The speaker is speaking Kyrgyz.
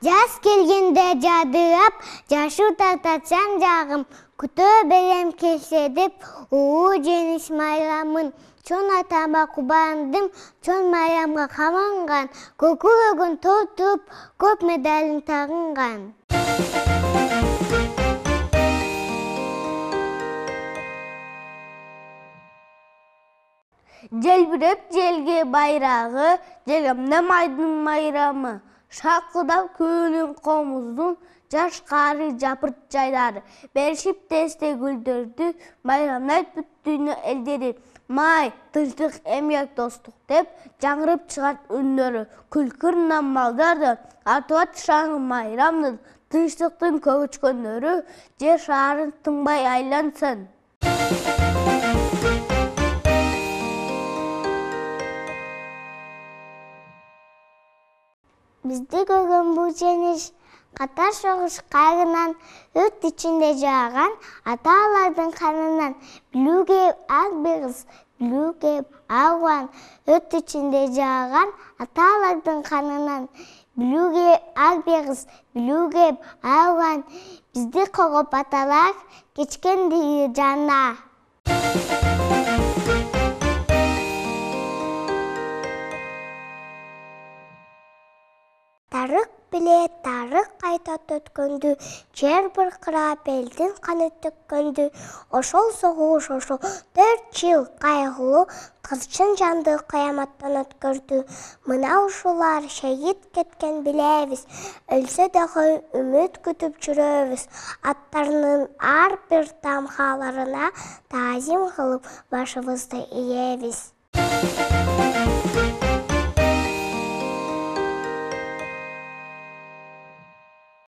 Жаз келгенде жадырап, жашы тартатсан жагым, күтө берем келсе деп, жеңиш майрамын. Чон атама кубандым, чон майрамга каманган, көкүрөгүн толтуруп, көп медалин тагынган. Желбиреп желге байрагы, жегемде майдын майрамы. Шакылдап күнүн комуздун, жаш каары жапырт жайлары. Беришип тесте гүлдөрдү, байрамдайт бүт дүйнө элдери. Май, тынчтык, эмгек, достук деп жаңырып чыгат үндөрү. Күлкүрүнөн малдарды, артып шаңы майрамдын, тынчтыктын көчкөндөрү, жер шаарын тынбай айлансын. Бизди көргөн бул жеңиш катар согуш кайгынан, өрт ичинде жааган ата-аналардын канынан, билүүгө ак бегиз, билүүгө аган, өрт ичинде жааган ата-аналардын канынан, билүүгө ак бегиз, билүүгө аган, бизди когоп аталар кечкенди жана. Тарых биле тарых кайтат өткөндү, жер быркырап элдин каны төккөндү. Ошол согуш, ошол 4 жыл кайгылуу, кырчын жанды кыяматтан өткөрдү. Мына ушулар шейит кеткен билебиз, өлсө дагы үмүт күтүп жүрөбүз. Аттарынын ар бир тамгаларына таазим кылып башыбызды ийебиз.